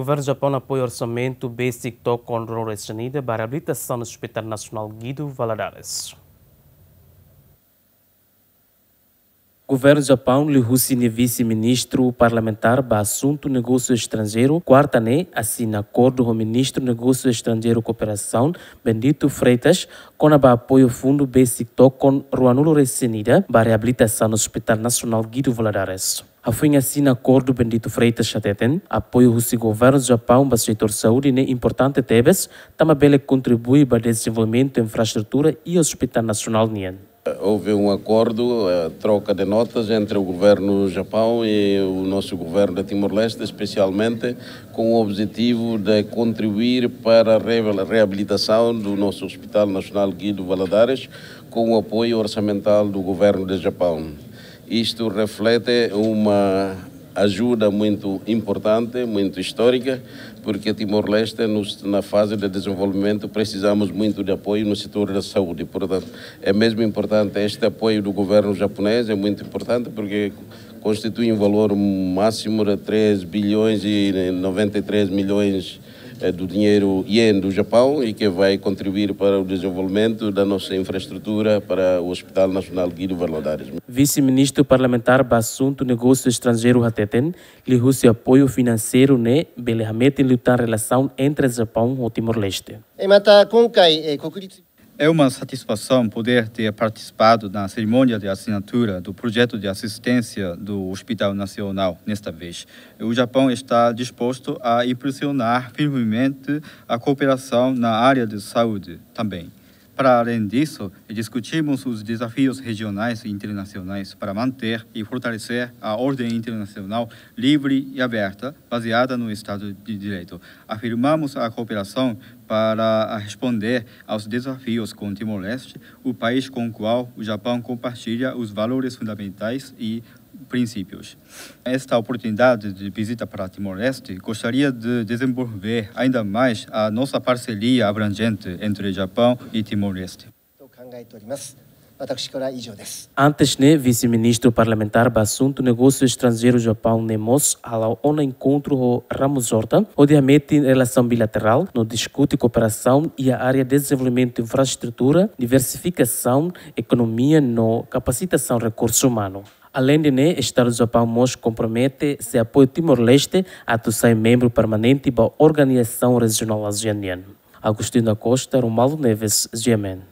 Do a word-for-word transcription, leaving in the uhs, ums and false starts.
Governu Japaun apoia orsamentu besik tokon ruanulu-resin-ida ba reabilitasaun Hospital Nasionál Guido Valadares. Governu Japaun liuhusi nia vise-ministru parlamentár ba asuntu negósiu estranjeiru, kuarta ne'e, asina akordu ho ministru negósiu estranjeiru kooperasaun, Bendito Freitas, kona-ba apoiu fundu besik tokon ruanulu-resin-ida ba reabilitasaun Hospital Nasionál Guido Valadares. Hafoin asina akordu, Bendito Freitas hateten, apoiu husi governu Japaun ba setór saúde ne'e importante tebes, tanba bele kontribui ba dezenvolvimentu infraestrutura i Hospital Nasionál nian. Houve um acordo, eh, troca de notas entre o governo do Japão e o nosso governo de Timor-Leste, especialmente com o objetivo de contribuir para a re-, reabilitação do nosso Hospital Nacional Guido Valadares, com o apoio orçamental do governo de Japão. Isto reflete uma ajuda muito importante, muito histórica, porque Timor-Leste, nos, na fase de desenvolvimento, precisamos muito de apoio no setor da saúde. Portanto, é mesmo importante este apoio do governo japonês, é muito importante porque constitui um valor máximo de três bilhões e noventa e três milhões, eh, do dinheiro ien do Japão e que vai contribuir para o desenvolvimento da nossa infraestrutura para o Hospital Nacional Guido Valadares. Vise-ministru parlamentár ba asuntu negósiu estranjeiru hateten, liuhusi apoiu finanseiru ne'e bele hametin liután relasaun entre Japaun ho Timor-Leste. え、また、今回、えー、国立 É uma satisfação poder ter participado na cerimônia de assinatura do projeto de assistência do Hospital Nacional nesta vez. O Japão está disposto a impulsionar firmemente a cooperação na área de saúde também. Para além disso, discutimos os desafios regionais e internacionais para manter e fortalecer a ordem internacional livre e aberta, baseada no Estado de Direito. Afirmamos a cooperação para responder aos desafios com Timor-Leste, o país com o qual o Japão compartilha os valores fundamentais e princípios. Esta oportunidade de visita para Timor-Leste, gostaria de desenvolver ainda mais a nossa parceria abrangente entre Japão e Timor-Leste. と考えております。私からは以上です。 Antes ne'e, vise-ministru parlamentár ba asuntu negósiu estranjeiru Japaun ne'e mós hala'o ona enkontru ho Ramos Horta, hodi hametin relasaun bilaterál, no diskute kooperasaun iha área dezenvolvimentu infraestrutura, diversifikasaun ekonomia no kapasitasaun rekursu umanu. Aleinde ne'e, Estadu Japaun mós kompromete sei apoia Timor-Leste atu sai membru permanente ba organizasaun rejionál ASEAN nian. Agostinho da Costa, Romualdo Neves, G M N.